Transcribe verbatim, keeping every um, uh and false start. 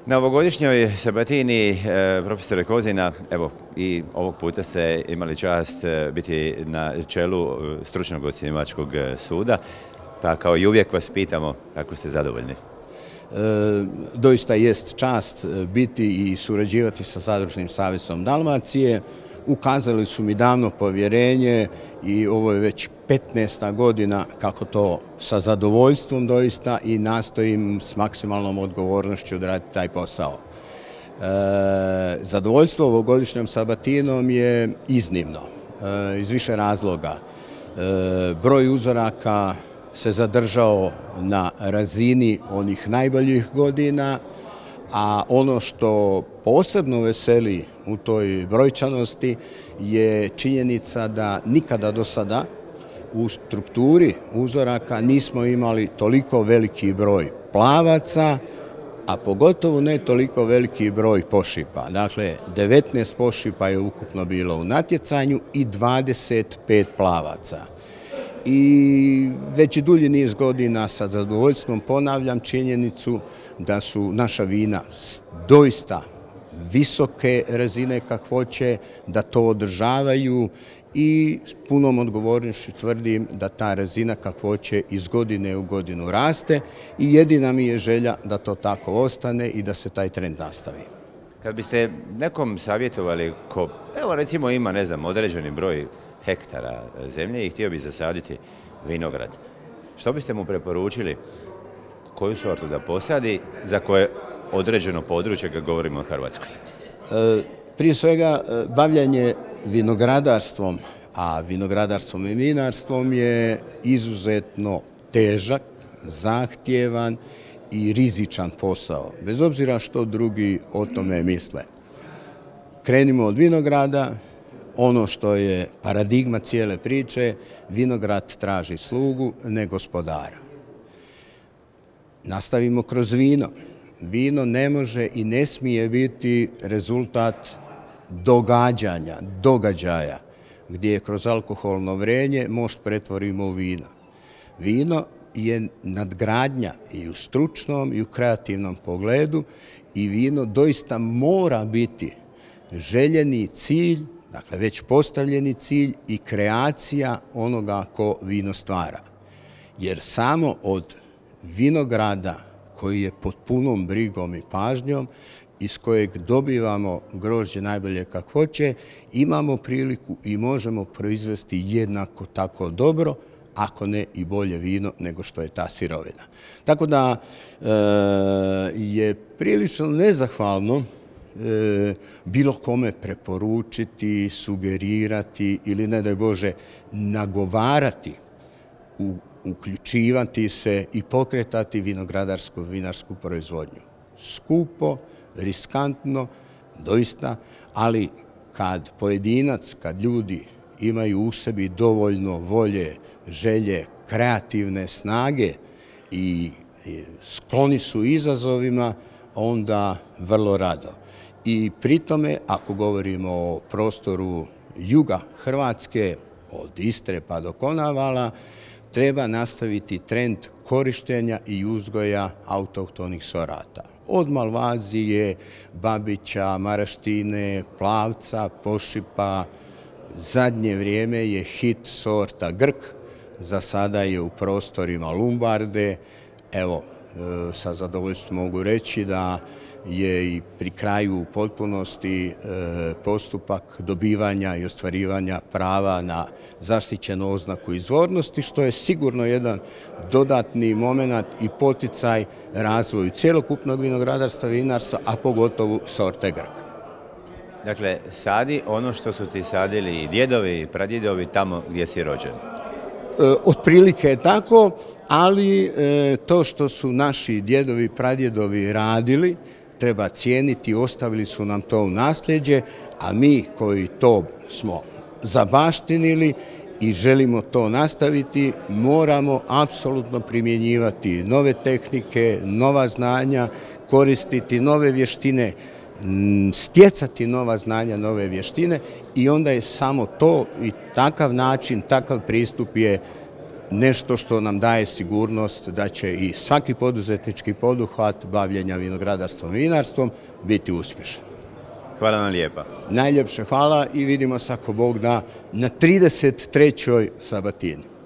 Na ovogodišnjoj sabatini, e, profesore Kozina, evo i ovog puta ste imali čast e, biti na čelu e, stručnog ocjenjivačkog suda, pa kao i uvijek vas pitamo kako ste zadovoljni. E, doista jest čast biti i surađivati sa Zadružnim savezom Dalmacije. Ukazali su mi davno povjerenje i ovo je već petnaesta godina kako to sa zadovoljstvom doista i nastojim s maksimalnom odgovornošću odraditi taj posao. E, zadovoljstvo ovogodišnjom sabatinom je iznimno, e, iz više razloga. E, broj uzoraka se zadržao na razini onih najboljih godina, a ono što posebno veseli u toj brojčanosti je činjenica da nikada do sada u strukturi uzoraka nismo imali toliko veliki broj plavaca, a pogotovo ne toliko veliki broj pošipa. Dakle, devetnaest pošipa je ukupno bilo u natjecanju i dvadeset pet plavaca. I već i dulji niz godina sa zadovoljstvom ponavljam činjenicu da su naša vina doista visoke razine kakvoće, da to održavaju i s punom odgovornošću tvrdim da ta razina kakvoće iz godine u godinu raste i jedina mi je želja da to tako ostane i da se taj trend nastavi. Kad biste nekom savjetovali ko, evo recimo ima, ne znam, određeni broj hektara zemlje i htio bi zasaditi vinograd, što biste mu preporučili, koju sortu da posadi, za koje određeno područje kad govorimo o Hrvatskoj? E, prije svega, bavljanje vinogradarstvom, a vinogradarstvom i vinarstvom je izuzetno težak, zahtjevan i rizičan posao, bez obzira što drugi o tome misle. Krenimo od vinograda. Ono što je paradigma cijele priče, vinograd traži slugu, ne gospodara. Nastavimo kroz vino. Vino ne može i ne smije biti rezultat događanja, događaja, gdje kroz alkoholno vrenje mošt pretvorimo u vino. Vino je nadgradnja i u stručnom i u kreativnom pogledu i vino doista mora biti željeni cilj, dakle već postavljeni cilj i kreacija onoga ko vino stvara. Jer samo od vinograda koji je pod punom brigom i pažnjom, iz kojeg dobivamo grožđe najbolje kakvoće, imamo priliku i možemo proizvesti jednako tako dobro, ako ne i bolje vino nego što je ta sirovina. Tako da e, je prilično nezahvalno e, bilo kome preporučiti, sugerirati ili ne daj Bože nagovarati, u, uključivati se i pokretati vinogradarsku vinarsku proizvodnju. Skupo, riskantno, doista, ali kad pojedinac, kad ljudi imaju u sebi dovoljno volje, želje, kreativne snage i skloni su izazovima, onda vrlo rado. I pri tome, ako govorimo o prostoru juga Hrvatske, od Istre pa do Konavala, treba nastaviti trend korištenja i uzgoja autohtonih sorata. Od Malvazije, Babića, Maraštine, Plavca, Pošipa, zadnje vrijeme je hit sorta Grk, za sada je u prostorima Lumbarde. Evo, sa zadovoljstvom mogu reći da je i pri kraju u potpunosti postupak dobivanja i ostvarivanja prava na zaštićenu oznaku izvornosti, što je sigurno jedan dodatni moment i poticaj razvoju cjelokupnog vinogradarstva i vinarstva, a pogotovo sorte Grk. Dakle, sadi ono što su ti sadili i djedovi i pradjedovi tamo gdje si rođen. Otprilike je tako, ali to što su naši djedovi i pradjedovi radili treba cijeniti, ostavili su nam to u nasljeđe, a mi koji to smo zabaštinili i želimo to nastaviti, moramo apsolutno primjenjivati nove tehnike, nova znanja, koristiti nove vještine, stjecati nova znanja, nove vještine i onda je samo to i takav način, takav pristup je nešto što nam daje sigurnost da će i svaki poduzetnički poduhvat bavljenja vinogradarstvom i vinarstvom biti uspješan. Hvala vam lijepa. Najljepše hvala i vidimo se ako Bog da na trideset trećoj sabatini.